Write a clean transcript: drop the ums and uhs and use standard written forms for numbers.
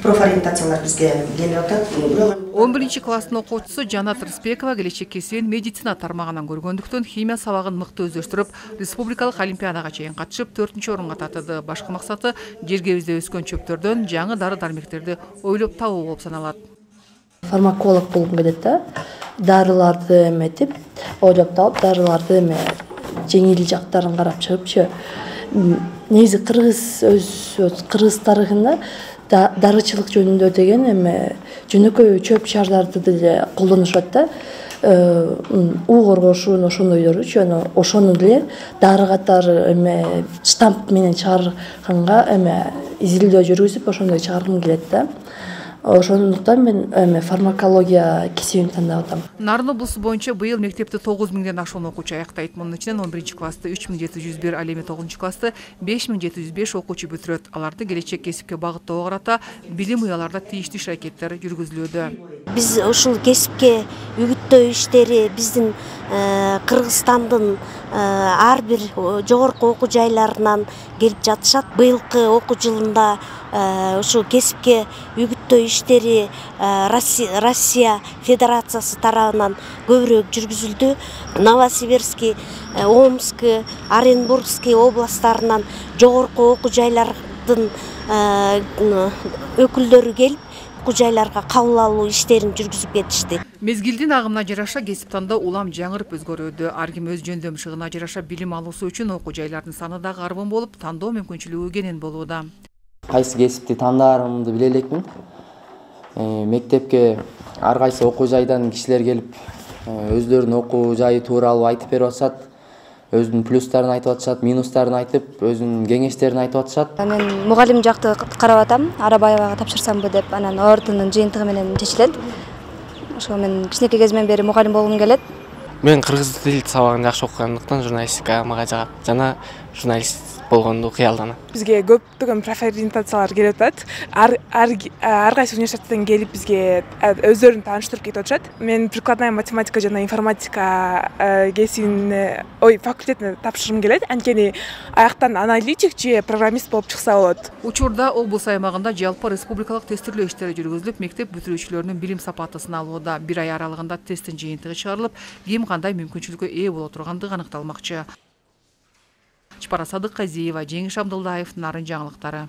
Профориентациялар бизге келип атат. 11-класстын окуучусу Жанат Рыспекова келечек кесибин медицина тармагынан көргөндүктөн химия сабагын мыкты өздөштүрүп, республикалык олимпиадага чейин катышып 4-орунга татыды. Башкы максаты жергебизде өскөн чөптөрдөн жаңы дары-дармектерди ойлоп табуу болуп саналат. Фармаколог болгум келет да. Дарыларды эметип, ойлоп таап, дарыларды жеңил жактарын карап чыгыпчы. Негизи кыргыз тарыхында дарычылык жөнүндө деген жөнөкөй чөп шаардарды деле колдонушат да. У коргошун ошондойлоручу, ошону деле дары катары штамп менен чыгарганга изилдөө жүргүзүп, ошондой чыгаргым келет да. Ошондуктан мен фармакология кесибин тандап атам. Нарын облусу боюнча быйыл мектепти 9000ден ашуун окуучу аяктайт. Мунун ичинен 11-классты 3701, ал эми 9-классты 5705 окуучу бүтүрөт. Аларды келечек кесипке багыттоого карата билим уяларда тийиштүү иш-аракеттер жүргүзүлүүдө. Биз ушул кесипке үгүттөө иштери биздин Кыргызстандын ар бир жогорку окуу жайларынан келип жатышат. Быйылкы окуу жылында ушу кесипке үгүттөө иштери Россия Федерациясы тарабынан көбүрөөк жүргүзүлдү. Новосибирский, Омский, Оренбургский областтарынан жогорку окуу жайлардын өкүлдөрү келип окуу жайларга кабыл алуу иштерин жүргүзүп кетишти. Мезгилдин агымына жараша кесип тандоо улам жаңырып өзгөрүүдө. Ар ким өз жөндөмшүгүнө жараша билим алуусу үчүн окуу жайлардын саны дагы арбын болуп, тандоо мүмкүнчүлүгү кенен болууда. Кайсы кесипти тандаарымды биле элекмин. Мектепке ар кайсы окуу жайдан кишилер келип, өздөрүнүн окуу жайы тууралуу айтып берип атышат. Өзүнүн плюстарын айтып атышат, минустарын айтып, өзүнүн кеңештерин айтып атышат. Мен мугалим жакты карап атам, Арабаевага тапшырсамбы деп, анан ОРТнын жыйынтыгы менен чечилет. Ошо мен кичинекей кезимден бери мугалим болгум келет. Мен кыргыз тил сабагын жакшы окугандыктан журналистика мага жагат жана журналист болгонду кыялданам. Бизге көптөгөн профориентациялар келип атат. Ар кайсы университеттен келип бизге өздөрүн тааныштырып кетип атышат. Мен прикладная математика жана информатика кесибин факультетине тапшыргым келет. Анткени аяктан аналитик же программист болуп чыкса болот. Учурда облус аймагында жалпы республикалык тестирлөө иштери жүргүзүлүп, мектеп бүтүрүүчүлөрүнүн билим сапаты сыналууда. 1 ай аралыгында тесттин жыйынтыгы чыгарылып, ким кандай мүмкүнчүлүккө ээ боло тургандыгы аныкталмакчы. Чапара Садыкказиева, Жеңиш Абдылдаев, Нарын жаңылыктары.